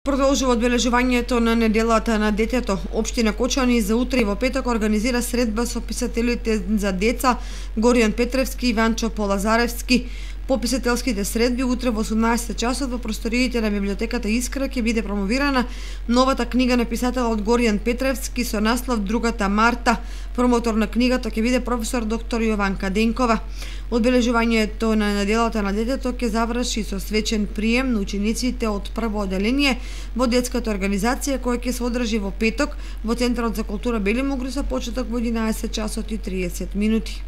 Продолжува одбележувањето на неделата на детето. Општина Кочани за утре и во петок организира средба со писателите за деца Горијан Петревски и Иванчо Полазаревски. По писателските средби утре во 18 часот во просториите на библиотеката Искра ќе биде промовирана новата книга на писателот Горијан Петревски со наслов Другата Марта. Промотор на книгата ќе биде професор доктор Јованка Денкова. Одбележувањето на неделата на детето ќе заврши со свечен прием на учениците од прво оделение во детската организација која ќе се одржи во петок во Центарот за култура Бели Могри со почеток во 11 часот и 30 минути.